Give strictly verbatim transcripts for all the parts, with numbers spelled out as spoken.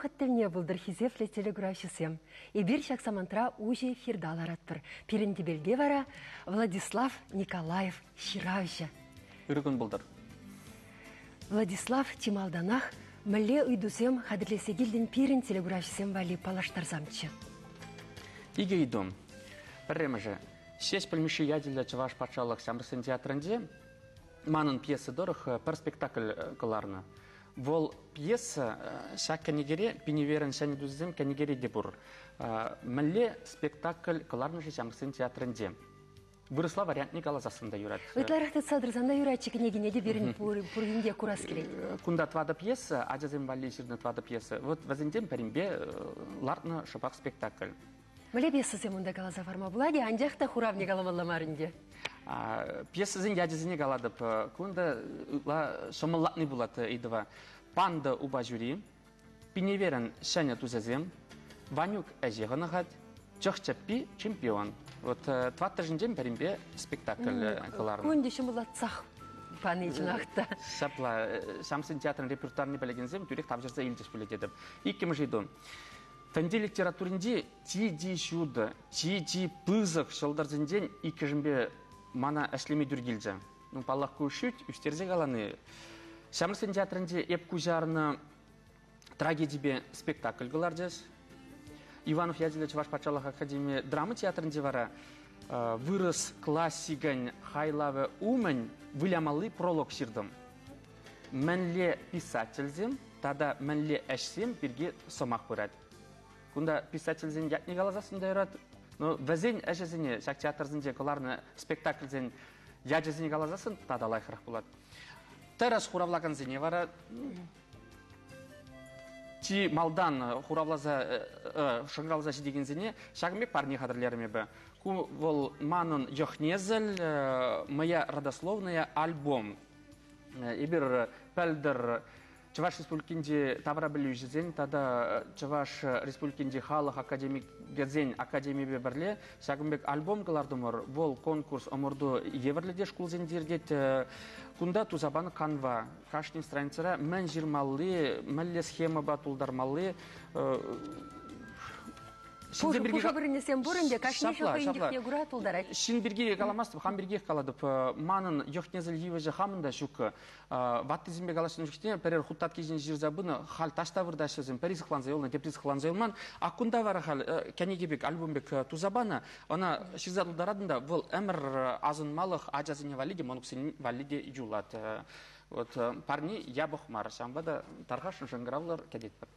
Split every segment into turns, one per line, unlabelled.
Вӑхӑт тӗлне пултӑр, хисеплӗ телекуравҫӑсем. Эпир ҫак самантра уҫӑ эфирта ларатпӑр. Пирӗн тӗпелте вара Владислав Николаев ҫыравҫӑ.
Ырӑ кун пултӑр.
Владислав, чи малтанах мӗнле ыйтусем хатӗрлесе килтӗн пирӗн телекуравҫӑсем валли, паллаштарсамччӗ.
Икӗ ыйту. Пӗрремӗшӗ. Ҫеҫпӗл Мишши ячӗллӗ Чӑваш патшалӑх ҫамрӑксен театрӗнче манӑн пьеса тӑрӑх пӗр спектакль кӑларнӑ. Вӑл пьеса ҫак кӗнекере, «Пиневерӗн ҫӗнӗ тусӗсем» кӗнекере те пур. Мӗнле спектакль кӑларнӑ-ши ҫамрӑксен театрӗнче? Вырӑсла вариантне каласассӑн та юрать.
Ытларах тытса тӑрсан та юрать кӗнекине те, пирӗн пур енте курас килет.
Кунта тӑватӑ пьеса, ачасем валли ҫырнӑ тӑватӑ пьеса. Вот вӗсенчен пӗринпе лартнӑ шӑпах спектакль.
Мӗнле пьесӑсем унта, каласа парма пулать, анчах та хуравне каламалла мар ӗнтӗ.
Пьесӑсен ячӗсене калатӑп. Кунта ытла ҫӑмӑллатни пулать ыйтӑва. «Панда упа ҫури», «Пиневерӗн ҫӗнӗ тусӗсем», «Ванюк ӗҫе хӑнӑхать», «Чӑх чӗппи чемпион». Вот тӑваттӑшӗнчен пӗринпе спектакль кӑларнӑ.
Ку ӗнтӗ ҫӑмӑллатсах пани чӑнах та.
Ҫапла, ҫамрӑксен театрӗн репертуарне пӗлекенсем тӳрех тавҫӑрса илчӗҫ пулӗ тетӗп. Иккӗмӗш ыйту. Тӗнче литературинчи чи-чи ҫутӑ, чи-чи пысӑк ҫӑлтӑрсенчен иккӗшӗнпе мана ӗҫлеме тӳр килчӗ. Ну, паллах, ку шӳт, ӳстерсе калани. Ҫамрӑксен театрӗнче эп куҫарнӑ трагедипе спектакль кӑларчӗҫ. Иванов ячӗллӗ Чӑваш патшалӑх академи драма театрӗнче вара вырӑс классикӗн хайлавӗ умӗн вылямалли пролог ҫыртӑм. Мӗнле писательсем тата мӗнле ӗҫсем пирки сӑмах пырать? Кунта писательсен ятне каласассӑн та юрать. Но вӗсен ӗҫӗсене, ҫак театрсенче кӑларнӑ спектакльсен ячӗсене каласассӑн тата лайӑхрах пулать. Тӗрӗс хуравлакансене вара, чи малтан хуравласа шӑнкӑравласа ҫитекенсене ҫакӑн пек парне хатӗрлерӗм эпӗ. Ку вӑл манӑн йӑх-несӗл, «Моя родословная» альбом. Эпир пӗлтӗр Чӑваш Республикинчи таврапӗлӳҫӗсен тата Чӑваш Республикинчи халӑх академикӗсен академийӗпе пӗрле ҫакӑн пек альбом кӑлартӑмӑр. Вӑл конкурс, ӑмӑрту евӗрлӗ те шкулсенче иртет. Кунта туса панӑ канва. Кашни страницӑра мӗн ҫырмалли, мӗнле схемӑпа тултармалли.
Пушӑ вырӑнӗсем пур ӗнтӗ, кашни хӑйӗн йӑхне кура тултарать.
Ҫын пирки каламастӑп, хам пиркиех калатӑп. Манӑн йӑх-несӗл йывӑҫӗ хамӑн та ҫук. Ваттисемпе калаҫнӑ чухне пӗрер хут татки ҫине ҫырса пынӑ, халь таҫта выртаҫҫӗ, пӗри сыхланса юлнӑ, тепри сыхланса юлман. А кунта вара халь кӗнеке пек, альбом пек туса панӑ, ӑна ҫырса тултаратӑн та, вӑл ӗмӗр асӑнмалӑх ачасене валли те, мӑнуксене валли те юлать. Вот парни япӑх мар, ҫавӑнпа та тархасшӑн шӑнкӑравлӑр, кӗтетпӗр.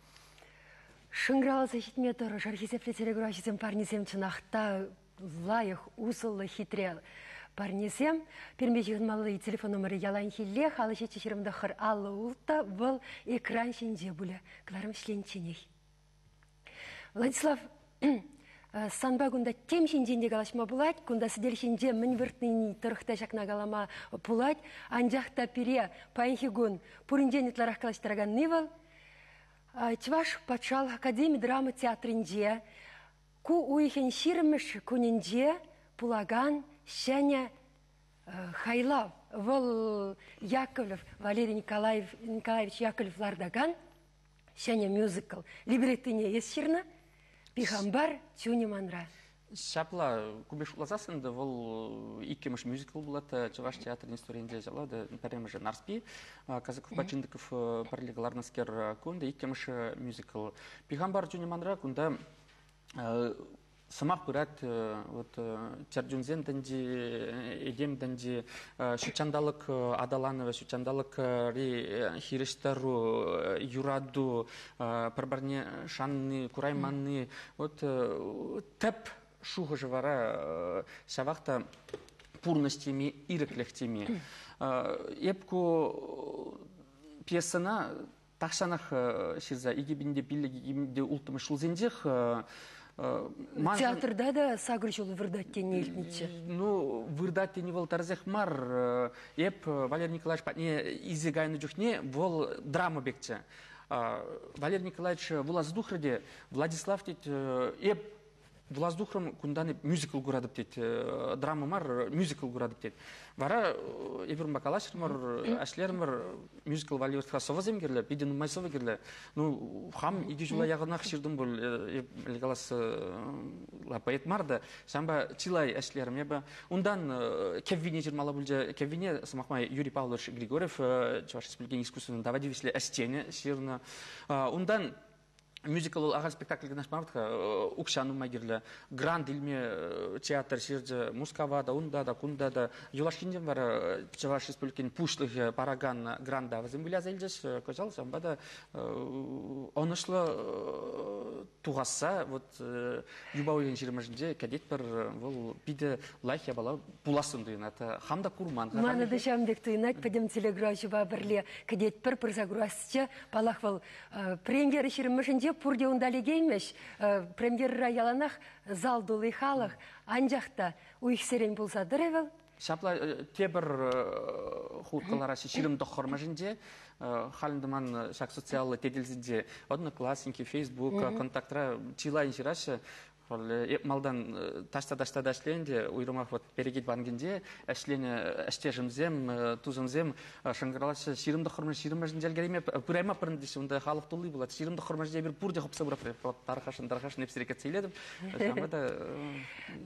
Шӑнкӑравласа ҫитме тӑрӑшӑр, хисеплӗ телекуравҫӑсем, парнисем чӑнах та лайӑх, усӑллӑ, хитре парнесем. Пирӗнпе ҫыхӑнмалли телефон номерӗ яланхиллех аллӑ ҫиччӗ ҫирӗм тӑхӑр аллӑ улттӑ, вӑл экран ҫинче пулӗ кӑларӑм вӗҫленичченех. Владислав, санпа кунта тем ҫинчен те калаҫма пулать, кунта сӗтел ҫинче мӗн выртнине тӑрӑх та ҫакна калама пулать, анчах та пире паянхи кун пуринчен ытларах калаҫтараканни вӑл Чӑваш патшалӑх академи драма театрӗнче ку уйӑхӗн ҫирӗммӗш кунӗнче пулакан ҫӗнӗ хайлав. Вӑл Яковлев, Валерий Николаев, Николаевич Яковлев лартакан ҫӗнӗ мюзикл. Либреттине эс ҫырнӑ, «Пихампар чунӗ манра».
Ҫапла, ку пек шутласассӑн та вӑл иккӗмӗш мюзикл пулать Чӑваш театрӗн историйӗнче. Ҫапла та, пӗрремӗшӗ «Нарспи», Казаковпа Чиндыков пӗрле кӑларнӑскер, кунта иккӗмӗш мюзикл. «Пихампар чунӗ манра», кунта сӑмах пырать вот чӗрчунсен тӗнчи, этем тӗнчи, ҫутҫанталӑк аталанӑвӗ, ҫутҫанталӑкри хирӗҫтӑру, юрату, пӗр-пӗрне шанни, курайманни. Вот тӗп шухӑшӗ вара ҫавах та пурнӑҫ теми, ирӗклӗх теми. Эп ку пьесӑна тахҫанах ҫырса, икӗ пин те пиллӗк, икӗ пин те улттӑмӗш ҫулсенчех.
Театрта та сакӑр ҫул выртать тени илтнӗччӗ.
Ну, выртать тени вӑл тӗрӗсех мар. Эп Валерий Николаевич патне илсе кайнӑ чухне вӑл драма пекчӗ. Валерий Николаевич вуласа тухрӗ те: «Владислав, — тет, — эп Влаздухрым кундан мюзикл курадып тет, драма мар, мюзикл курадып тет. Вара эпир бакалашырмыр, ашлермыр, мюзикл валиотха совозем кирле, пиден нумай совы кирле. Ну, хам иди жула ягынах ширдым был, легалас ла поэт марда, шамба чилай ашлерм, ебе. Ундан кеввине жирмала булже, кеввине самахмай Юрий Павлович Григорьев, Чуваш Республикин искусственный давадивисле астене ширна. Ундан мюзикл ага спектакль гына шмартка укшану магирле гранд илме театр ширже Мускава да унда да кунда да юлашкинден бар Чуваш Республикин пушлых параган гранда вазым илжеш кожал самба да онышлы тугасса вот юба уен жирмажинде кадет бір вол пиде лайх ябала пуласын дуйнат хамда курман
маны да шамдек туйнат педем телеграф бірле кадет бір пырза груасча палах вол премьер ширмажинде пурде ундали геймеш, премьера яланах зал дулы халах, анжақта уйхсерен болса дыревел.
Шапла тебір хуткалара ширим дохормажинде, халындыман шак социаллы теделзинде, Одноклассники, Фейсбук, Контактра чилайын ширашы, малдан ташта-ташта дашленде, уйрымах вот перегит бангинде, әшлене әштежімзем, тузымзем, шыңғыралашы ширымды құрмы ширымы жінжелгереме, пырайма пырындесі, онда халық тулы болады, ширымды құрмы жінде бір пурде хопса бұрап, тархашын, тархашын епсірекет сейледім.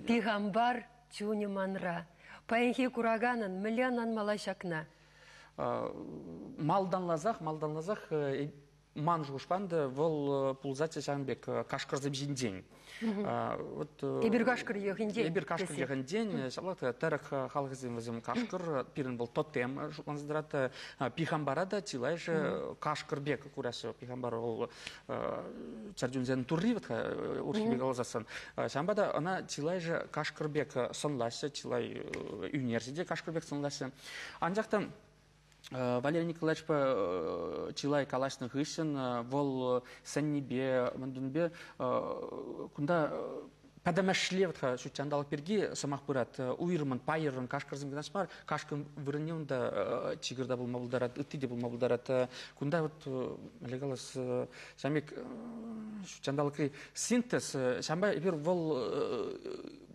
Пигамбар чуни манра, паянхи кураганын миллионан малашакна.
Малдан лазах, малдан лазах, ман жушпанды вол пулзати шамбек кашкырзым жиндень.
Эбир кашкыр ехендень.
Эбир кашкыр ехендень. Шаблат терек халхызым вазым кашкыр, пирен был тотем жутланздырат пихамбарада тилайже кашкырбек курасы пихамбар ол чардюнзен турри вот урхибек алзасын. Шамбада она тилайже кашкырбек сонласы, тилай университет кашкырбек сонласы. Анжақтан Валерий Николаевич чилай калашны хышын, вол сәннебе, мындунбе, кунда падамашлевтха шучандал перги самах пырат уйрман пайырын кашкырзым гынашмар кашкын вырынне унда чигырда булма булдарат ытти булма булдарат кунда вот легалас самик шучандалкы синтез шамба бир вол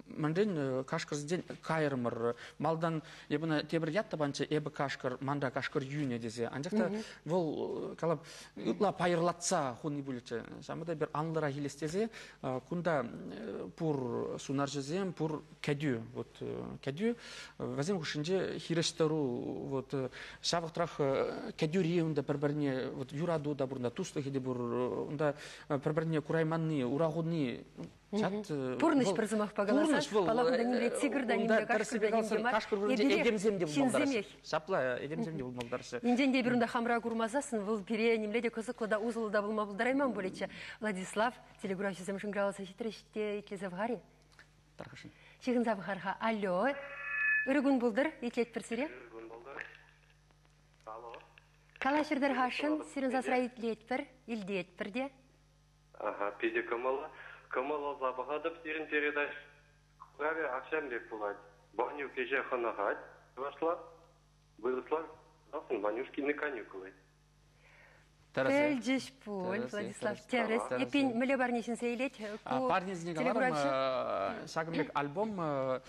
манден кашкырзден кайырмыр малдан ебына тебір ятта банча эбі кашкыр манда кашкыр юне десе анжакта вол калап ытла пайырлатса хуни булече шамбада бир анлыра хилестезе кунда пур сунаржызем пур кәдю вот кәдю вазем хушинже хирештеру вот шавыктырах кәдюри унда бір-біріне вот юраду да бурда туслыхи де бур унда бір-біріне курайманны урагуны чат
пурныш пырзымах пагаласа палахуда нимле тигр да нимле кашкыр да нимле мар
эдемзем де булмалдарсы шапла эдемзем де булмалдарсы
инденде бирунда хамра курмазасын выл пире нимле де кызыклы да узлы да булма булдарайман болече. Владислав телеграфчызым шыңгыраласа хитреште итлезе вгари
тархашын
чигынза вгарха. Алло, үргүн булдыр итлет пирсире.
Үргүн булдыр. Алло.
Калашырдыр хашын сирин засра итлет пир илдет пирде.
Ага, пиде кымала. Кымала забағадып сирин передач. Кураве акшам бек булат. Баню кеже ханагат. Вошла. Выросла. Дасын Ванюшкины каникулы.
Пельджиш пуль, Владислав Терес. Епин міле барнешін сейлет.
Парнезіне галарым шагымбек альбом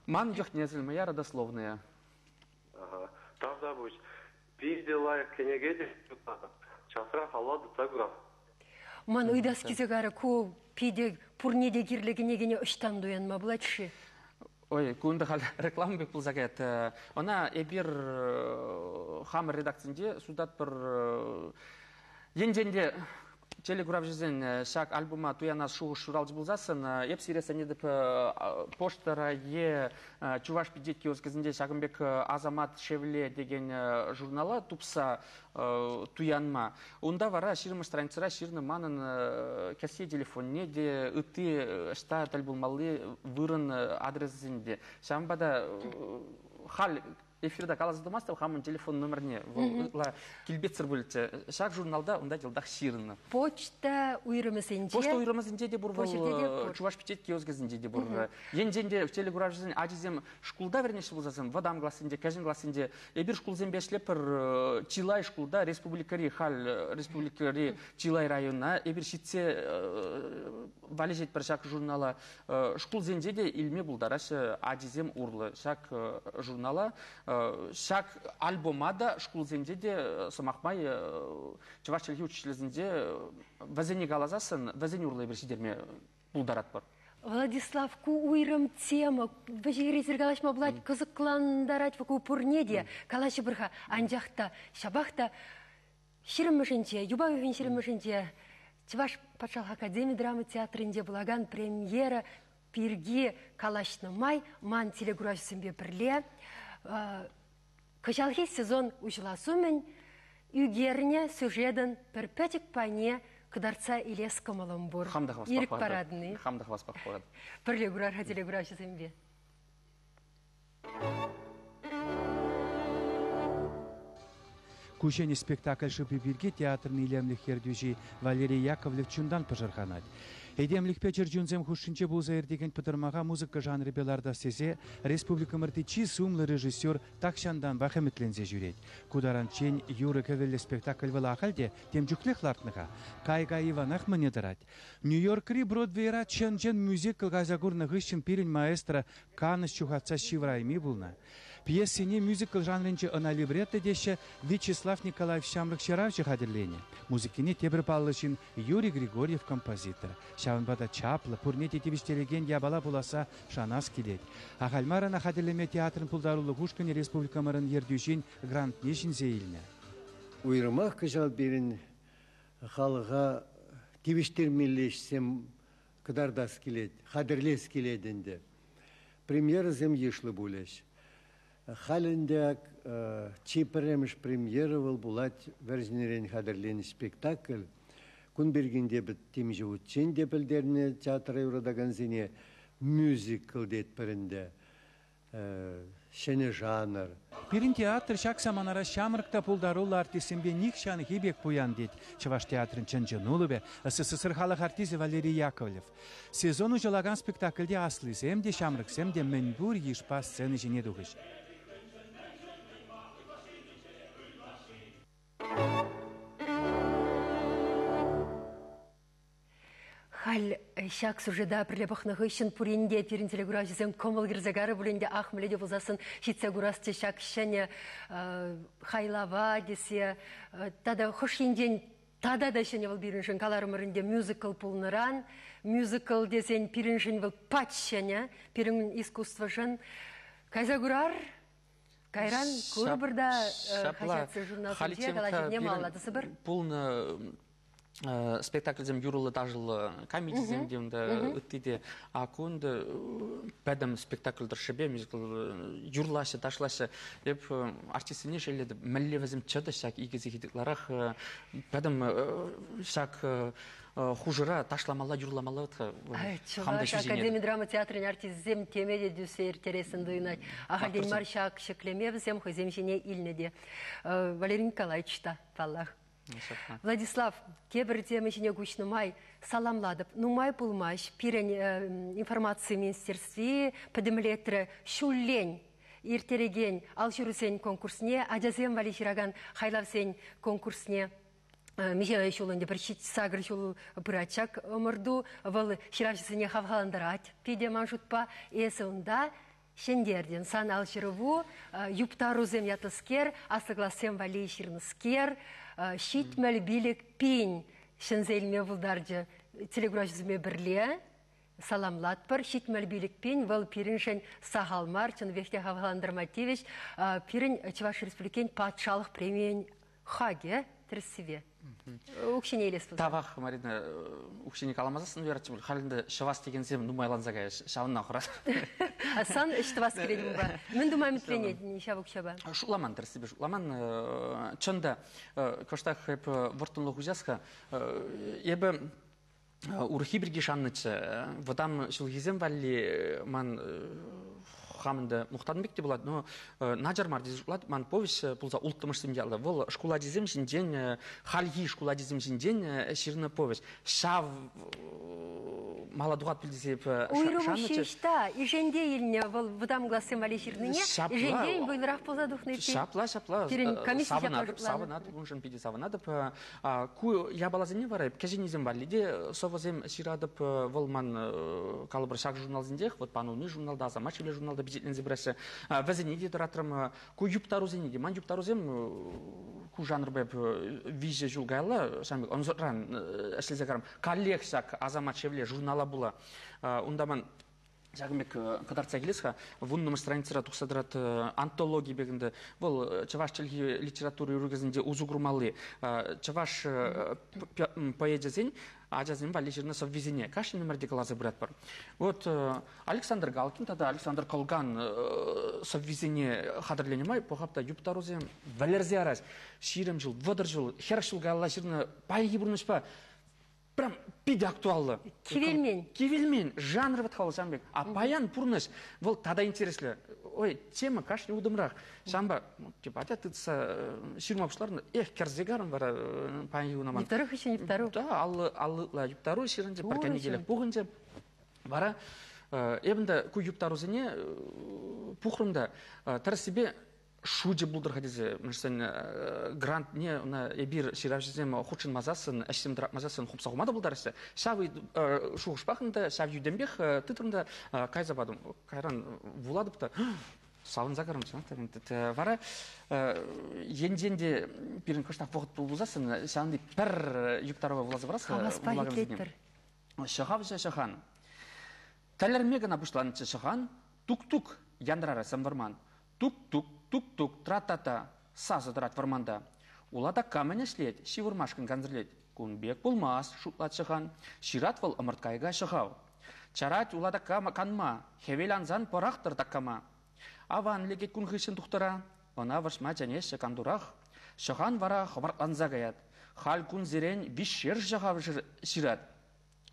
«Ман юхнезіль, моя родословная».
Ага. Тавда буш. Пизде лайық кенегеде. Часра халады цагра.
Ман уйдас кизегары ку пиде пурнеде кирлегіне гене ұштан дуянма булатшы.
Ой, кунда хал реклама бек пулзагет. Она эбир хамыр редакцинде судат бір енженде телеграф жизен шак альбома туяна шуғы шуралж булзасын, еп сиресе недіп поштара е Чуваш пидет киоскізінде Шагымбек Азамат Шевле деген журнала тупса туянма. Унда вара ширмы страницара ширны манын кәсе телефонне де ыты штат альбомалы вырын адресінде. Шамбада хал Эфирда каласа тӑмастӑп, хамӑн телефон номерне вӑл килпетсӗр пулчӗ. Ҫак журналта унта йӑлтах ҫырнӑ.
Почта уйрӑмӗсенче.
Почта уйрӑмӗсенче те пур вӑл, Чӑваш пичет киоскӗсенче те пур. Енчен те телекуравҫӑсен ачисем шкулта вӗренеҫҫӗ пулсассӑн, вӑтам классенче, кӗҫӗн классенче эпир шкулсемпе ӗҫлепӗр, чылай шкулта, республикӑри халь, республикӑри чылай района эпир ҫитсе валеҫетпӗр ҫак журнала. Шкулсенче те илме пултараҫҫӗ ачисем урлӑ ҫак журнала. Ҫак альбома та шкулсенче те, сӑмах май, чӑваш чӗлхи учителӗсенче вӗсене каласассӑн, вӗсен урлӑ эпир ҫитерме пултаратпӑр.
Владислав, ку уйрӑм тема, вӗҫӗхӗресӗр калаҫма пулать, кӑсӑклантарать ку пурне те, калаҫӑпӑр-ха. Анчах та, ҫапах та ҫирӗммӗшӗнче, юпа уйӑхӗн ҫирӗммӗшӗнче Чӑваш патшалӑх академи драма театрӗнче пулакан премьера пирки калаҫнӑ май ман телекуравҫӑсемпе пӗрле кӑҫалхи сезон уҫӑлас умӗн ӳкернӗ сюжетӑн пӗр пӗчӗк пайне кӑтартса илес кӑмӑлӑм пур. Ирӗк паратӑн-и?
Хам та хаваспах паратӑп.
Пӗрле курар-ха телекуравҫӑсемпе.
Ку ҫӗнӗ спектакль шӑпи пирки театрӑн илемлӗх ертӳҫи Валерий Яковлев чунтан пӑшӑрханать. Этемлӗхпе чӗрчунсем хушшинче пулса иртекен пӑтӑрмаха музыка жанрӗпе лартас тесе республикӑмӑрти чи сумлӑ режиссер тахҫантанпах ӗмӗтленсе ҫӳрет. Ку таранччен юрӑ-кӗвӗллӗ спектакль вӑл ахаль те тем чухлех лартнӑ-ха. Кай-кай Иванах мӗне тӑрать. Нью-Йоркри Бродвейра чӑн-чӑн мюзикл кайса курнӑ хыҫҫӑн пирӗн маэстро канӑҫ ҫухатса ҫывӑрайми пулнӑ. Пьесине мюзикл жанрӗнче ӑна либретто теҫҫӗ, Вячеслав Николаев ҫамрӑк ҫыравҫӑ хатӗрленӗ. Музыкине тепӗр паллӑ ҫын Юрий Григорьев композитор. Ҫавӑнпа та чаплӑ, пурне те тивӗҫтерекен япала пуласса шанас килет. Ахаль мар ӑна хатӗрлеме театрӑн пултарулӑх ушкӑнӗ республикӑмӑрӑн ертӳҫин грантне ҫӗнсе илнӗ.
Уйрӑмах кӑҫал пирӗн халӑха тивӗҫтермелли ӗҫсем кӑтартас килет, хатӗрлес килет ӗнтӗ. Премьерӑсем йышлӑ пулӗҫ. Халь ӗнтӗ чи пӗрремӗш премьера вӑл пулать вӗрҫӗнерен хатӗрленӗ спектакль. Кун пирки те темиҫе хутчен те пӗлтернӗ театра юратакансене мюзикл тетпӗр ӗнтӗ. Ҫӗнӗ жанр.
Пирӗн театр ҫак саманара ҫамрӑк та пултаруллӑ артистсемпе нихҫанхи пек пуян тет Чӑваш театрӗн чӑн-чӑн улӑпӗ СССР халӑх артисчӗ Валерий Яковлев. Сезон уҫӑлакан спектакльте аслисем те, ҫамрӑксем те мӗнпур йышпа сцена ҫине тухӗҫ.
Халь ҫак сюжета пӗрле пӑхнӑ хыҫҫӑн пурин те пирӗн телекуравҫӑсем кӑмӑл кӗрсе карӗ пулин те ах мӗнле те пулсассӑн ҫитсе курасчӗ ҫак ҫӗнӗ хайлава тесе тата хӑш енчен тата та ҫӗнӗ вӑл пирӗншӗн каларӑмӑр ӗнтӗ мюзикл пулнӑран мюзикл тесен пирӗншӗн вӑл пач ҫӗнӗ пирӗн искусствӑшӑн кайса курар. Кайран курӑпӑр та хаҫатсен журналсенче калаҫӑвне малалла тӑсӑпӑр.
Пулнӑ спектакльсем юрӑллӑ-ташӑллӑ комедисем те унта, ытти те. А кунта пӗтӗм спектакль тӑршшӗпе мюзикл юрлаҫҫӗ, ташлаҫҫӗ. Эп артистсене шеллетӗп, мӗнле вӗсем чӑтӑҫ ҫак икӗ сехет ытларах пӗтӗм ҫак хушӑра ташламалла, юрламалла.
Чӑваш академи драма театрӗн артисчӗсем теме те тӳссе ирттерессӗн туйӑнать. Ахальтен мар ҫак ҫӗклеме вӗсем хӑйсем ҫине илнӗ те. Валерий Николаевич та, паллах. Владислав, тепӗр тема ҫине куҫнӑ май саламлатӑп. Нумай пулмасть пирӗн информаци министерстви пӗтӗмлетрӗ ҫуллен ирттерекен алҫырусен конкурсне, ачасем валли ҫыракан хайлавсен конкурсне. Миҫе ҫул ӗнтӗ пӗр сакӑр ҫул пырать ҫак ӑмӑрту. Вӑл ҫыравҫӑсене хавхалантарать. Питӗ ман шутпа эсӗ унта ҫӗнтертӗн. Сан алҫырӑву юптарусем ятлӑскер, аслӑ классем валли ҫырнӑскер, ҫитмӗл пилӗк пин ҫӗнсе илме пултарчӗ. Телекуравҫӑсемпе пӗрле саламлатпӑр. Ҫитмӗл пилӗк пин вӑл пирӗншӗн сахал мар, чӑннипех те хавхалантарма тивӗҫ. Пирӗн Чӑваш Республикин патшалӑх премийӗн хакӗ тӗрӗссипе. Укҫине илес пулсан.
Тавах, Марина, укҫине каламасассӑн юратчӗ пуль. Халь ӗнтӗ ҫӑвас текенсем нумайланса каяҫ, ҫавӑнна хурас.
Сан ӗҫ тӑвас килет унпа. Мӗн тума ӗмӗтленет ҫав укҫапа?
Шутламан, тӗрӗссипе шутламан. Чӑн та, кӑштах эп вӑрттӑнлӑх уҫас-ха. Эпӗ урӑххи пирки шаннӑччӗ. Вӑтам ҫулхисем валли ман хамында мухтанбек те булат, но начар мар десе шутлат, ман повесть пулса улттӑмӑшсем яллӑ. Вӑл шкул ачисем ҫинчен, хальхи шкул ачисем ҫинчен ҫырнӑ повесть. Ҫав мала тухат пуль тесе
Уйрӑм ҫеҫ ишенде илнӗ вӑл вӑтам классем валли ҫырнине, ишенде вӑйлӑрах пулса тухнӑ.
Ҫапла, ҫапла. Савӑнатӑп, савӑнатӑп, уншӑн питӗ савӑнатӑп. Ку япаласене вара кӗҫӗннисем валли те сӑвӑсем ҫыратӑп. Вӑл ман калӑпӑр ҫак журналсенчех, вот Панулми журналта, Асамат шевле журналта пичетленсе пыраҫҫӗ. Вӗсене те тӑратрӑм. Ку юптарусене те. Ман юптарусем ку жанрпа виҫӗ ҫул каялла, ҫавӑн пек ӑнсӑртран ӗҫлесе карам. Каллех ҫак Асамат шевле журнала була. Унта ман ҫакӑн пек кӑтартса килес-ха, вуннӑмӗш страницӑра тухса тӑрат антологи пек ӗнтӗ. Вӑл чӑваш чӗлхи литература урокӗсенче усӑ курмалли чӑваш поэчӗсен ачасем валли ҫырнӑ сӑввисене кашни номерте кӑларса пыратпӑр. Вот Александр Галкин тата Александр Колган сӑввисене хатӗрленӗ май пӑхап та юптарусем вӗлерсе ярас. Ҫирӗм ҫул, вӑтӑр ҫул, хӗрӗх ҫул каялла ҫырнӑ паянхи пурнӑҫпа прям питӗ актуаллӑ.
Кивелмен.
Кивелмен. Жанр вӑт халӑ пек. А паян пурнӑҫ вӑл тата интереслӗ. Ой, тема кашни утӑмрах. Ҫавӑнпа, типа, атя тытса ҫырма пуҫларнӑ. Эх, кӗрсе карӑм вара паянхи куна ман.
Юптару хыҫҫӑн юптару.
Да, аллы, аллы юптару ҫырӑнчӗ, пӗр кӗнекелӗх пухӑнчӗ. Вара эпӗ те ку юптарусене пухрӑм та тӗрӗссипе шучӗ пултӑр-ха тесе, мӗншӗн грантне ӑна эпир ҫыравҫӑсем хутшӑнмасассӑн, ӗҫсем тӑратмасассӑн хупса хума та пултараҫҫӗ. Ҫав шухӑшпах та, ҫав йӳтӗмпех тытрӑм та кайса патӑм. Кайран вулатӑп та савӑнса карӑм. Вара енчен те пирӗн кӑштах вӑхӑт пулсассӑн, ҫавӑнти пӗр юптарӑва вуласа парас.
Хаваспа итлетпӗр.
Ҫӑхавҫӑ ҫӑхан. Тӗлӗрме кӑна пуҫланчӗ ҫӑхан, тук-тук янрарӗ сӗм вӑрман. Тук-тук, тук-тук, тра-та-та, сасӑ тӑрать вӑрманта. Ула та камӗн ӗҫлет, ҫывӑрмашкӑн кансӗрлет. Кун пек пулмас, шутлать ҫӑхан. Ҫырать вӑл ӑмӑрткайӑка ҫӑхав. Чарать ула та канма, хӗвел ансан пӑрахтӑр таккама. Аван лекет кун хыҫҫӑн тухтӑра, ӑна вӑрҫма чӗнеҫҫӗ кантурах. Ҫӑхан вара хӑпартланса каять. Халь кунсерен виҫшер ҫӑхав ҫырать.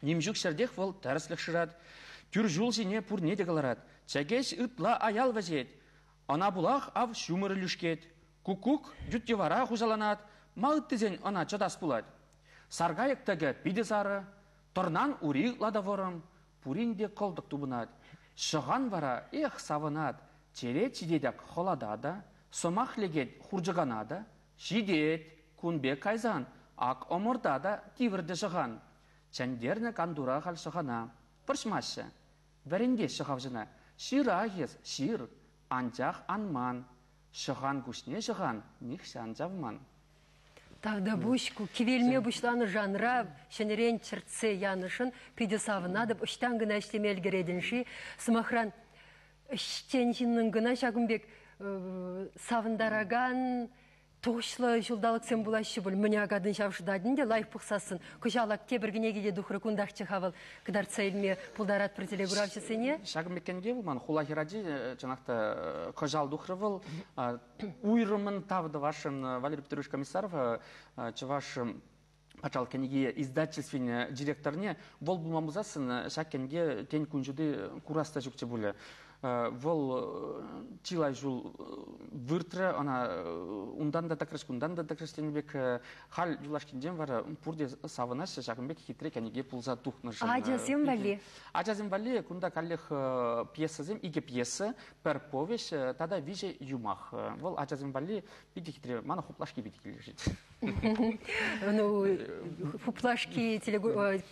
Нимҫук ҫӗртех вӑл тӗрӗслӗх шырать. Тӳр ҫул ҫине пурне те кӑларать. Чӗкеҫ ытла аял вӗҫет. Ӑна пулах ав ҫумӑр лӳшкет. Куккук ют йӑвара хуҫаланать, ма ыттисен ӑна чӑтас пулать. Саркайӑк тӗкӗ питӗ сарӑ, тӑрнан ури ытла та вӑрӑм, пурин те кӑлтӑк тупӑнать. Ҫӑхан вара эх савӑнать, черет ҫитет ак хӑлата та, сӑмах лекет хурчӑкана та, ҫитет, кун пек кайсан, ак ӑмӑрта та тивӗртӗ ҫӑхан. Чӗнтернӗ кантура халь ҫӑхана. Вӑрҫмаҫҫӗ. Вӗрентеҫҫӗ ҫӑхавҫӑна. Ҫырах эс, ҫыр. Анчах анман. Ҫӑхан куҫне ҫӑхан, нихҫан чавман.
Тавта пуҫ, ку кивелме пуҫланӑ жанра ҫӗнӗрен чӗртсе янӑшӑн питӗ савӑнатӑп, ӑҫтан кӑна ӗҫлеме ӗлкӗретӗн-ши? Сӑмахран, ӗҫчен ҫыннӑн кӑна ҫакӑн пек савӑнтаракан тухӑҫлӑ ҫулталӑксем пулаҫҫӗ пуль. Мӗне акатӑн ҫав шӑтатӑн те лайӑх пӑхсассӑн. Кӑҫал тепӗр кӗнеке те тухрӗ, кунтахчӗ-ха вӑл кӑтартса илме пултаратпӑр телекуравҫӑсене.
Ҫакӑн пек кӗнеке вӑл ман хула хӗрачи, чӑнах та кӑҫал тухрӗ вӑл. Уйрӑмӑн тав тӑвасшӑн Валерий Петрович Комиссаров, чӑваш патшалӑх кӗнеке издательствин директорне, вӑл пулман пулсассӑн ҫак кӗнеке тен кун ҫути курас та ҫукчӗ пулӗ. Вӑл чылай ҫул выртрӗ, ӑна унтан та тӑкрӗҫ, кунтан та тӑкрӗҫ тенӗ пек. Халь юлашкинчен вара пурте савӑнаҫҫӗ, ҫакӑн пек хитре кӗнеке пулса тухнӑшӑн.
Ачасем валли?
Ачасем валли кунта каллех пьесӑсем, икӗ пьеса, пӗр повеҫ тата виҫӗ юмах. Вӑл ачасем валли питӗ хитре, мана хуплашки питӗ килӗшет.
Ну, хуплашки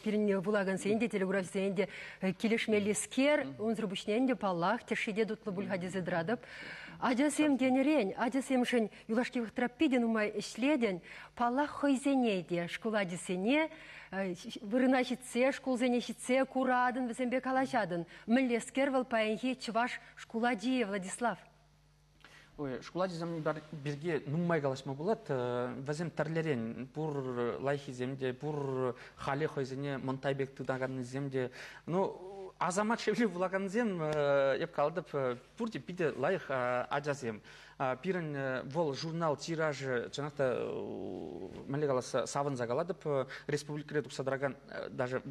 пирӗн вулакансен те, телеграфсен те килӗшмеллискер, унсӑр пуҫне ӗнтӗ паллах, тӗшши те тутлӑ пуль-ха тесе тӑратӑп. Ачасем тенӗрен, ачасемшӗн юлашки вӑхӑтра питӗ нумай ӗҫлетӗн, паллах хӑйсене те, шкул ачисене вырӑна ҫитсе, шкулсене ҫитсе куратӑн, вӗсемпе калаҫатӑн. Мӗнлескер вӑл паянхи чӑваш шкул ачи, Владислав?
Ой, шкул ачисем пирки нумай калаҫма пулать. Вӗсем тӗрлӗрен, пур лайӑххисем те, пур халӗ хӑйсене мӑнтай пек тытаканнисем те. Ну, Азамат шевли вулакансем, эп калдып, пурте питӗ лайӑх ачасем. Пирӗн вӑл журнал тиражӗ, чӑнах та, мӗнле каласа, савӑнса калатӑп, республикӑра тухса тӑракан даже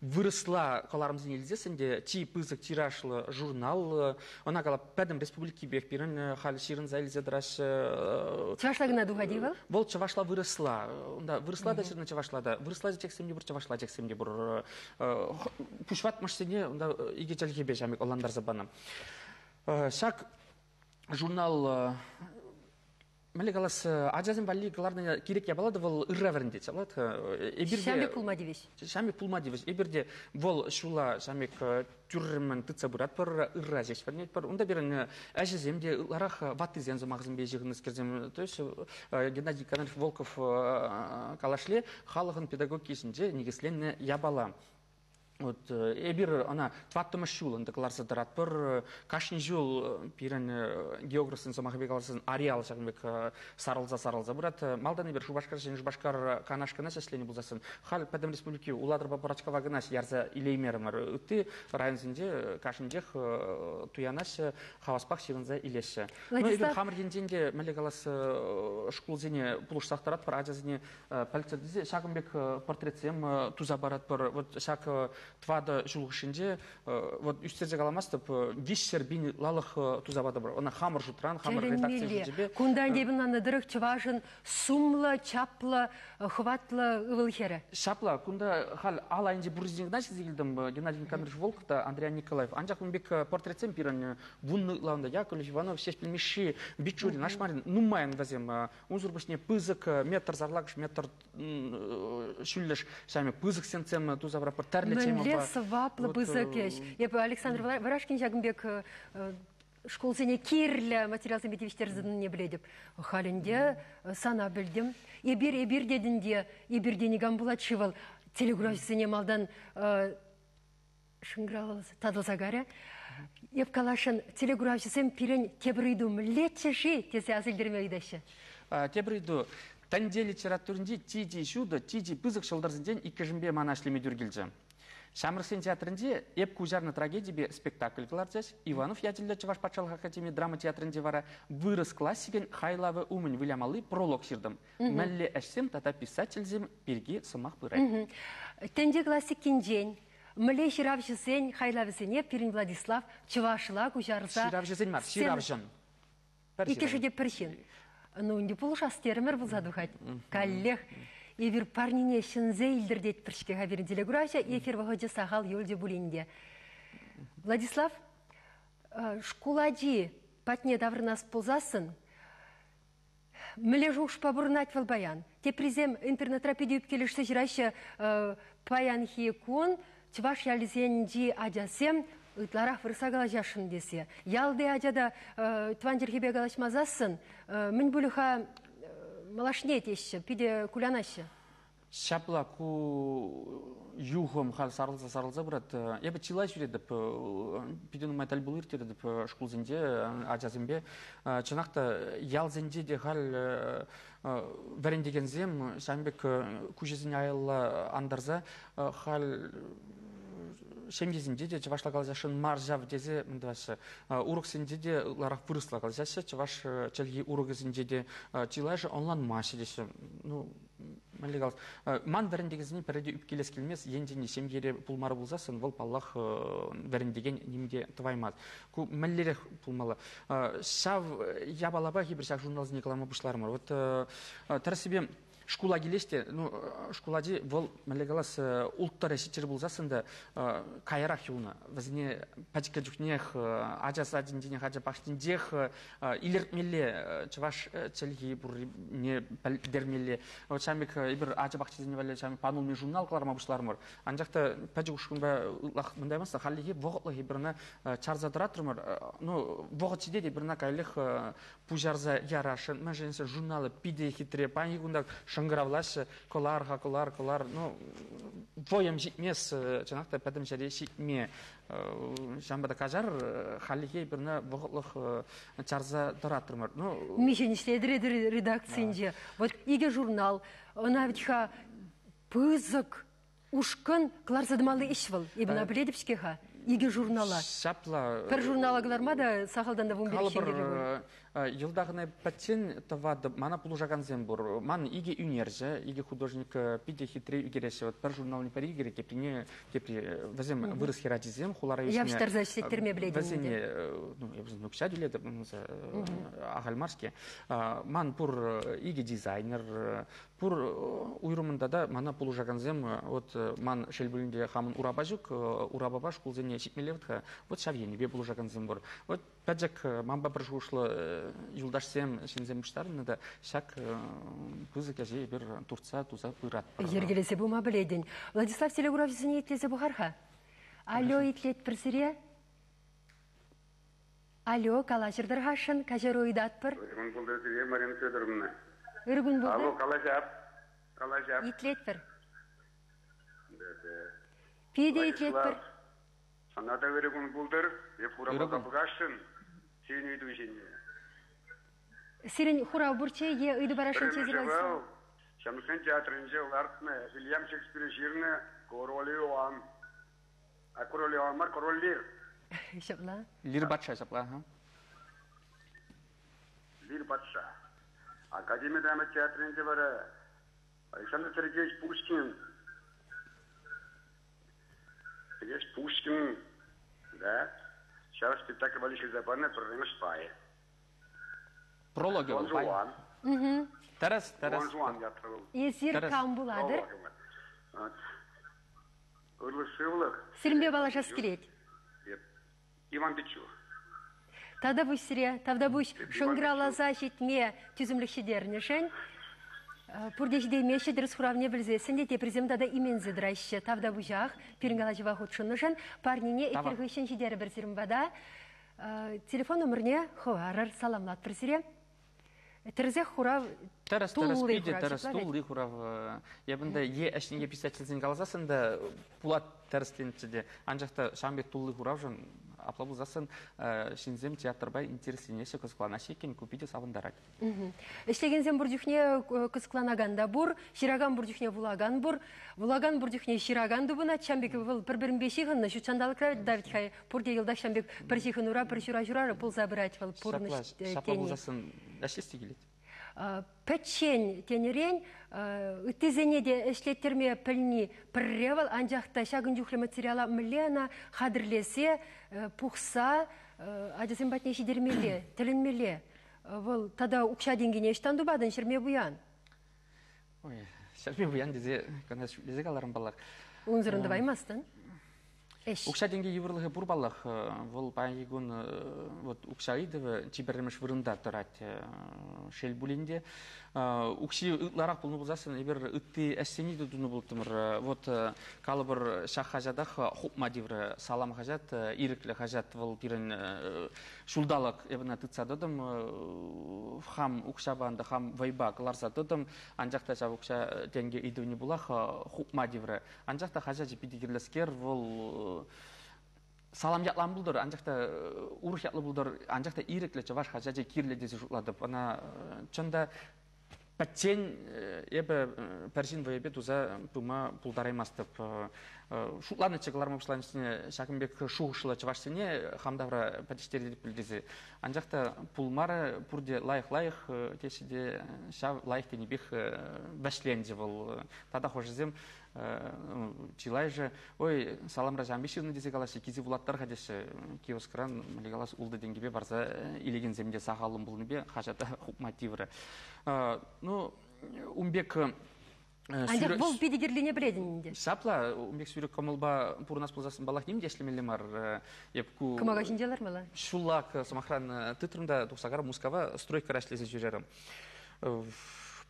вырӑсла кӑларӑмсене илсессӗн те чи пысӑк тиражлӑ журнал, ӑна калап пӗтӗм республикипех пирӗн халь ҫырӑнса илсе тӑраҫҫӗ.
Чӑвашла кӑна тухать-и вӑл?
Вӑл чӑвашла вырӑсла. Унта вырӑсла та ҫырнӑ, чӑвашла та. Вырӑсла текстсем те пур, чӑвашла текстсем те пур. Пуҫватмӑшсене унта икӗ чӗлхепе ҫамик ӑнлантарса панӑ. Ҫак журнал, мӗнле калас, ачасем валли кӑларнӑ кирек япала та вӑл ырра вӗрентет.
Ҫамик пулма тивӗҫ.
Ҫамик пулма тивӗҫ. Эпир те вӑл ҫула ҫамик тӳрремӗн тытса пыратпӑр, ырра ҫеҫ вӗренетпӗр. Унта пирӗн ӗҫӗсем те ытларах ваттисен сӑмахӗсемпе ҫыхӑннӑскерсем. То есть Геннадий Николаевич Волков калашле халӑхӑн педагогики ҫинче никӗсленнӗ япала. Вот эпир ӑна тӑваттӑмӗш ҫул ӗнтӗ кӑларса тӑратпӑр. Кашни ҫул пирӗн географсен сӑмахӗпе каласан ареал ҫакӑн пек сарӑлса-сарӑлса пырать. Малтан эпир Шупашкар, Ҫӗнӗ Шупашкар, Канаш кӑна ӗҫленӗ пулсассӑн, халь пӗтӗм республики Улатӑрпа Пӑрачкава кӑна ярса илеймерӗмӗр. Ытти районсенче кашнинчех туянаҫҫӗ, хаваспах ҫырӑнса илеҫҫӗ. Ну, эпир хамӑр енчен те, мӗнле калас, шкулсене пулӑшсах тӑратпӑр, ачасене пӗлтӗр тесе ҫакӑн пек портретсем туса паратпӑр. Вот ҫак тӑватӑ ҫул хушшинче, вот ӳстерсе каламастӑп, виҫҫӗр пин лалӑх туса патӑмӑр. Ӑна хамӑр шутран, хамӑр редакци шучӗпе.
Кунта ӗнтӗ ӑнланнӑ тӑрӑх чӑвашӑн сумлӑ, чаплӑ, хӑватлӑ ывӑл хӗрӗ.
Ҫапла, кунта халь ал айӗнче пуррисене кӑна ҫитсе килтӗм, Геннадий Никандрович Волков та Андриян Николаев. Анчах ун пек портретсем пирӗн вуннӑ ытланнӑ Яковлев, Иванов, Ҫеҫпӗл Мишши, Бичурин, Ашмарин нумайӑн вӗсем. Унсӑр пуҫне пысӑк метр сарлакӑш, метр ҫӳллӗш ҫамӗ пысӑк сенсем туса паратпӑр, тӗрлӗ темӑпа.
Мӗнле сӑваплӑ пысӑк ӗҫ. Эпӗ Александр Варашкин ҫакӑн пек шкулсене кирлӗ материалсемпе тивӗҫтерсе білетӗп. Халь ӗнтӗ сана пӗлтӗм. Эпир, эпир тетӗн те, эпир те никам пулать-ши вӑл. Телеграфсене малтан шӑнкӑравласа татӑлса карӗ. Эп калашӑн телеграфсем пирӗн тепӗр ыйту мӗнлеччӗ-ши тесе аса илтерме ыйтаҫҫӗ.
Тепӗр ыйту. Тӗнче литературинчи ти-ти ҫутӑ, ти-ти пысӑк ҫӑлтӑрсенчен иккӗшӗнпе мана ӗҫлеме тӳр килчӗ. Ҫамрӑксен театрӗнче эп куҫарнӑ трагедипе спектакль кӑларчӗҫ. Иванов ячӗллӗ Чӑваш патшалӑх академи драма театрӗнче вара вырӑс классикӗн хайлавӗ умӗн вылямалли пролог ҫыртӑм. Мӗнле ӗҫсем тата писательсем пирки сӑмах пырать.
Тӗнче классикинчен мӗнле ҫыравҫӑсен хайлавӗсене пирӗн Владислав чӑвашла куҫарса...
Ҫыравҫӑсен мар, ҫыравҫӑн.
Иккӗшӗ те пӗр ҫын. Ну, ӗнтӗ пулӑшас терӗмӗр пулса тухать. Каллех эпир парнине ҫӗнсе илтӗртет пӗрчке-ха пирӗн телекуравҫӑ, эфир вӑхӑчӗ сахал юлчӗ пулин те. Владислав, шкул ачи патне таврӑнас пулсассӑн, мӗнле шухӑшпа пурӑнать вӑл паян? Теприсем интернетра питӗ ӳпкелешсе ҫыраҫҫӗ, паянхи кун чӑваш ялӗсенчи ачасем ытларах вырӑсла калаҫасшӑн тесе. Ялти ача та тӑван чӗлхепе калаҫмасассӑн, мӗн пулӗ-ха малашне теҫҫӗ, питӗ кулянаҫҫӗ.
Ҫапла ку юхӑм халь сарӑлса сарӑлса пырать. Эпӗ чылай ҫӳретӗп, питӗ нумай тӗл пулу ирттеретӗп шкулсенче ачасемпе. Чӑнах та ялсенче те халь вӗрентекенсем ҫавӑн пек куҫӗсене аялла антарса халь ҫемьесенче те чӑвашла калаҫасшӑн мар ҫав тесе мӗн тӑваҫҫӗ. Уроксенче те ытларах вырӑсла калаҫаҫҫӗ, чӑваш чӗлхи урокӗсенче те чылайӑшӗ ӑнланмаҫҫӗ теҫҫӗ. Ну, мӗнле калас, ман вӗрентекенсене пӗрре те ӳпкелес килмест, енчен ҫемьере пулмарӗ пулсассӑн, вӑл, паллах, вӗрентекен ним те тӑваймасть. Ку мӗнлерех пулмалла? Ҫав япалапа эпир ҫак журналсене кӑларма пуҫларӑмӑр. Вот тӗрӗссипе шкула килес те, ну, шкул ачи вӑл, мӗнле калас, улттӑра ҫиччӗре пулсассӑн та каярах юлнӑ. Вӗсене пӗчӗккӗ чухнех, ача садӗнченех, ача пахчинчех илӗртмелле, чӑваш чӗлхи пуррине пӗлтермелле. Вот ҫавӑн пек эпир ача пахчисене валли ҫавӑн панулми журнал кӑларма пуҫларӑмӑр. Анчах та пӗчӗк ушкӑнпа ытлах мӗн таймастӑр, хальлӗхе вӑхӑтлӑх эпир ӑна чарса тӑратрӑмӑр. Ну, вӑхӑт ҫитет, эпир ӑна каллех пуҫарса ярасшӑн. Мӗншӗн тесен журналы питӗ хитре. Паянхи кунта шӑнкӑравлаҫҫӗ, кӑлар-ха, кӑлар, кӑлар. Ну, вӑйӑм ҫитмес, чӑнах та пӗтӗм ҫӗре ҫитме. Ҫавӑнпа та каҫар, хальлӗхе эпир ӑна вӑхӑтлӑх чарса тӑратрӑмӑр. Ну,
Миҫен ӗҫлетӗр редакцинче. Вот икӗ журнал, ӑна вӗт-ха пысӑк Ушкӑн кӑларса тӑмалли ӗҫ вӑл. Эпӗ ӑна пӗлетӗп-ҫке-ха. Икӗ журнала.
Ҫапла.
Пӗр журнала кӑларма та сахалтан та вун пилӗк ҫын кирлӗ пуль.
Йӑлтах ӑна пӗччен тӑватӑп. Мана пулӑшакансем пур. Ман икӗ ӳнерҫӗ, икӗ художник питӗ хитре ӳкереҫҫӗ. Вот пӗр журналне пӗри ӳкерет, теприне тепри. Вӗсем вырӑс хӗрачисем, хулара ӳснӗ.
Явӑҫтарса ӗҫлеттерме пӗлетӗн ӗнтӗ.
Вӗсене, ну, эпӗ вӗсене укҫа тӳлетӗп, ахаль мар-ҫке. Ман пур икӗ дизайнер, пур уйрӑмӑн тата мана пулӑшакансем. Вот ман шел пулин те хамӑн урапа ҫук, урапапа шкулсене ҫитмелле вӗт-ха. Вот ҫав енӗпе пулӑшакансем пур. Вот пӗчӗк манпа пӗр шухӑшлӑ юлташсем, ҫынсем пуҫтарӑннӑ та ҫак пысӑк ӗҫе эпир туртса туса пыратпӑр.
Йӗркелесе пыма пӗлетӗн. Владислав телекуравҫӑсене итлесе пӑхар-ха. Алло, итлетпӗр сире. Алло, калаҫӑр-тӑр-хашшӑн, каҫару ыйтатпӑр.
Ыркун пултӑр сире, Марина Федоровна.
Ыркун пултӑр.
Алло, калаҫап. Калаҫап.
Итлетпӗр. Питӗ итлетпӗр.
Сана та ырӑ кун пултӑр. Эп хурава пӑхасшӑн сирӗн ыйту ҫине.
Сирӗн хурав пурччӗ е ыйту парасшӑнччӗ эсир?
Ҫамрӑксен театрӗнче лартнӑ Вильям Шекспир ҫырнӑ Король Иоанн. А Король Иоанн мар, Король Лир.
Ҫапла.
Лир патша ҫапла.
Лир патша. Академи драма театрӗнче вара Александр Сергеевич Пушкин. Сергеевич Пушкин, да, ҫав спектакль валли ҫырса панӑ пӗрремӗш пайӗ.
Прологӗ вӑл пай. Тӗрӗс, тӗрӗс.
Дон Жуан ятлӑ вӑл.
Эсир кам пулатӑр?
Ырлӑх-сывлӑх.
Сирӗнпе паллашас килет.
Иван Пичур.
Тавтапуҫ сире, тавтапуҫ шӑнкӑравласа ҫитме тӳсӗмлӗх ҫитернӗшӗн. Пурте ҫитеймеҫҫӗ, тӗрӗс хуравне пӗлсессӗн те теприсем тата именсе тӑраҫҫӗ. Тавтапуҫах пирӗн калаҫӑва хутшӑннӑшӑн. Парнене эфир хыҫҫӑн ҫитерӗпӗр сирӗн пата. Телефон номерне хӑварӑр, саламлатпӑр сире. Тӗрӗсех хурав.
Тӗрӗс, тӗрӗс, питӗ тӗрӗс, тулли хурав. Эпӗ ӗнтӗ е ӗҫне писательсен каласассӑн та пулать тӗрӗсленччӗ те. Анчах та ҫавӑн пек тулли хуравшӑн апла пулсассӑн ҫынсем театрпа интересленеҫҫӗ, кӑсӑкланаҫҫӗ иккен, ку питӗ савӑнтарать.
Ӗҫлекенсем пур чухне кӑсӑкланакан та пур, ҫыракан пур чухне вулакан пур, вулакан пур чухне ҫыракан тупӑнать. Ҫавӑн пек вӑл пӗр-пӗринпе ҫыхӑннӑ ҫут ҫанталӑкра Давид хай пурте йӑлтах ҫавӑн пек пӗр ҫыхӑнура, пӗр ҫура-ҫурара пулса пырать вӑл пурнӑҫ тени.
Ҫапла пулсассӑн ӗҫлес те килет.
Пӗччен тенӗрен ыттисене те ӗҫлеттерме пӗлни пӗрре вӑл, анчах та ҫакӑн чухлӗ материала мӗнле ӑна хатӗрлесе, пухса ачасем патне ҫитермелле, тӗлӗнмелле. Вӑл тата укҫа-тенкине ӑҫтан тупатӑн, ҫӗрме пуян?
Ой, ҫӗрме пуян тесе кӑна шӳтлесе каларӑм паллах.
Унсӑрӑн тӑваймастӑн. Ӗҫ.
Укҫа-тенкӗ йывӑрлӑхӗ пур паллах. Вӑл паянхи кун вот укҫа ыйтӑвӗ чи пӗрремӗш вырӑнта тӑрать. Шел пулин те. Укҫи ытларах пулнӑ пулсассӑн эпир ытти ӗҫсене те тунӑ пултӑмӑр. Вот калӑпӑр ҫак хаҫатах хупма тиврӗ. Салам хаҫат, ирӗклӗ хаҫат вӑл пирӗн ҫулталӑк эп ӑна тытса тӑтӑм. Хам укҫапа ӗнтӗ, хам вӑйпа кӑларса тӑтӑм. Анчах та ҫав укҫа-тенкӗ ыйтӑвне пулах хупма тиврӗ. Анчах та хаҫачӗ питӗ кирлӗскер, вӑл салам ятлан пултӑр, анчах та урӑх ятлӑ пултӑр, анчах та ирӗклӗ чӑваш хаҫачӗ кирлӗ тесе шутлатӑп. Ӑна чӑн та пӗччен эпӗ пӗр ҫын вӑйӗпе туса пыма пултараймастӑп. Шутланӑччӗ кӑларма пуҫланӑччӗ ҫакӑн пек шухӑшлӑ чӑвашсене хам тавра пӗтӗҫтеретӗп пуль тесе. Анчах та пулмарӗ, пурте лайӑх-лайӑх теҫҫӗ те ҫав лайӑх тенипех вӗҫленчӗ вӑл. Тата хӑшӗсем чылайӑшӗ, ой, саламра ҫавӑн пек ҫырнӑ тесе калаҫҫӗ, килсе вулаттар-ха теҫҫӗ. Киоскран, мӗнле калас, ултӑ тенкӗпе парса илекенсем те сахаллӑн пулнипе хаҫата хупма тиврӗ. Ну, ун пек
Анчах вӑл питӗ кирлине пӗлетӗн ӗнтӗ.
Ҫапла, ун пек сӳрӗк кӑмӑлпа пурӑнас пулсассӑн паллах ним те ӗҫлемелле мар. Эп ку
Кӑмака ҫинче лармалла.
Ҫуллах, сӑмахран, тытрӑм та тухса карӑм Мускава стройкӑра ӗҫлесе ҫӳрерӗм.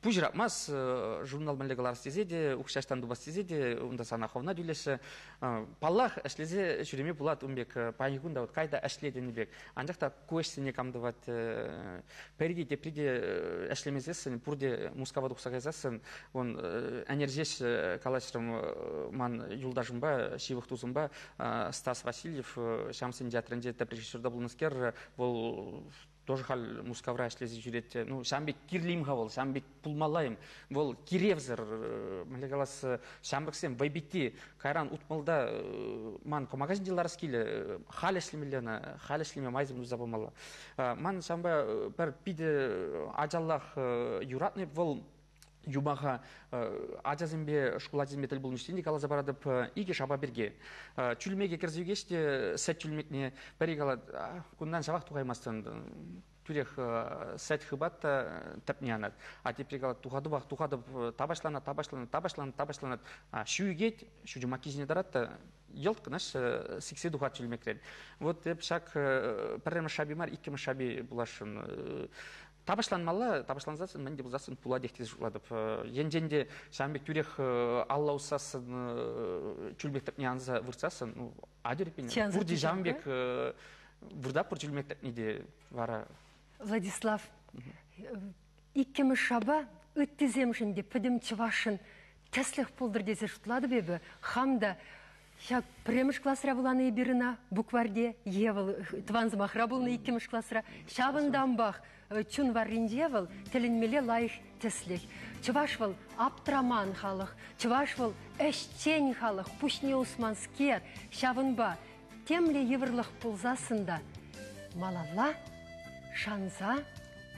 Пуҫ ыратмас, журнал мӗнле кӑларас тесе те, укҫа ӑҫтан тупас тесе те, унта сана хӑвна тӳлеҫҫӗ. Паллах, ӗҫлесе ҫӳреме пулать ун пек, паянхи кун та вот кай та ӗҫле тенӗ пек. Анчах та ку ӗҫсене кам тӑвать, пӗри те тепри те ӗҫлемесессӗн, пурте Мускава тухса кайсассӑн, вон ӗнер ҫеҫ калаҫрӑм ман юлташӑмпа, ҫывӑх тусӑмпа, Стас Васильев, Ҫамсен театрӗнче тӗп режиссерта пулнӑскер, вӑл Тоже халь Мускавра ӗҫлесе ҫӳрет. Ну, ҫавӑн пек кирлим-ха вӑл, ҫавӑн пек пулмалла-им. Вӑл киревсӗр, мӗнле калас, ҫамрӑксем вӑйпитти кайран утмӑлта ман кӑмака ҫинче ларас килӗ, халь ӗҫлемелле ӑна, халь ӗҫлеме майсем туса памалла. Ман ҫавӑнпа пӗр питӗ ачаллах юратнӑ вӑл юмаха ачасемпе, шкул ачисемпе тӗл пулнӑ ҫинчен те каласа паратӑп икӗ шапа пирки. Чӳлмеке кӗрсе ӳкеҫ те сӗт чӳлмекне пӗри калать, кунтан ҫавах тухаймастӑн, тӳрех сӗт хыпать та тӗпне анать. А тепри калать, тухатӑпах, тухатӑп, тапаҫланать, тапаҫланать, тапаҫланать, тапаҫланать. Ҫу ӳкет, ҫу чумакки ҫине тӑрать та йӑлт кӑна сиксе тухать чӳлмекрен. Вот эп ҫак пӗрремӗш шапи мар, иккӗмӗш шапи пуласшӑн. Тапаҫланмалла, тапаҫлансассӑн мӗн те пулсассӑн пулатех тесе шутлатӑп. Енчен те ҫавӑн пек тӳрех алла уссассӑн, чӳлмек тӗпне анса выртсассӑн, ну, атьӑр эппин, пурте ҫавӑн пек выртатпӑр чӳлмек тӗпне те вара.
Владислав, иккӗмӗш шапа ыттисемшӗн те пӗтӗм чӑвашшӑн тӗслӗх пултӑр тесе шутлатӑп эпӗ. Хам та ҫак пӗрремӗш класра вуланӑ эпир ӑна букварьте, е вӑл тӑван сӑмахра пулнӑ иккӗмӗш класра. Ҫавӑнтанпах чун варринче вӑл тӗлӗнмелле лайӑх тӗслӗх. Чӑваш вӑл аптраман халӑх, чӑваш вӑл ӗҫчен халӑх, пуҫне усманскер. Ҫавӑнпа темле йывӑрлӑх пулсассӑн та малалла шанса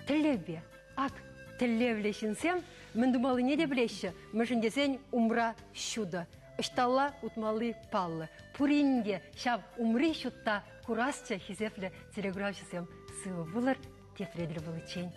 тӗллевпе. Ак тӗллевлӗ ҫынсем мӗн тумаллине те пӗлеҫҫӗ, мӗншӗн тесен умра ҫутӑ. Ӑҫталла утмалли паллӑ. Пурин те ҫав умри ҫутта курасчӗ хисеплӗ телеграфҫӑсем. Сывӑ пулӑр, тепре тӗл пуличчен.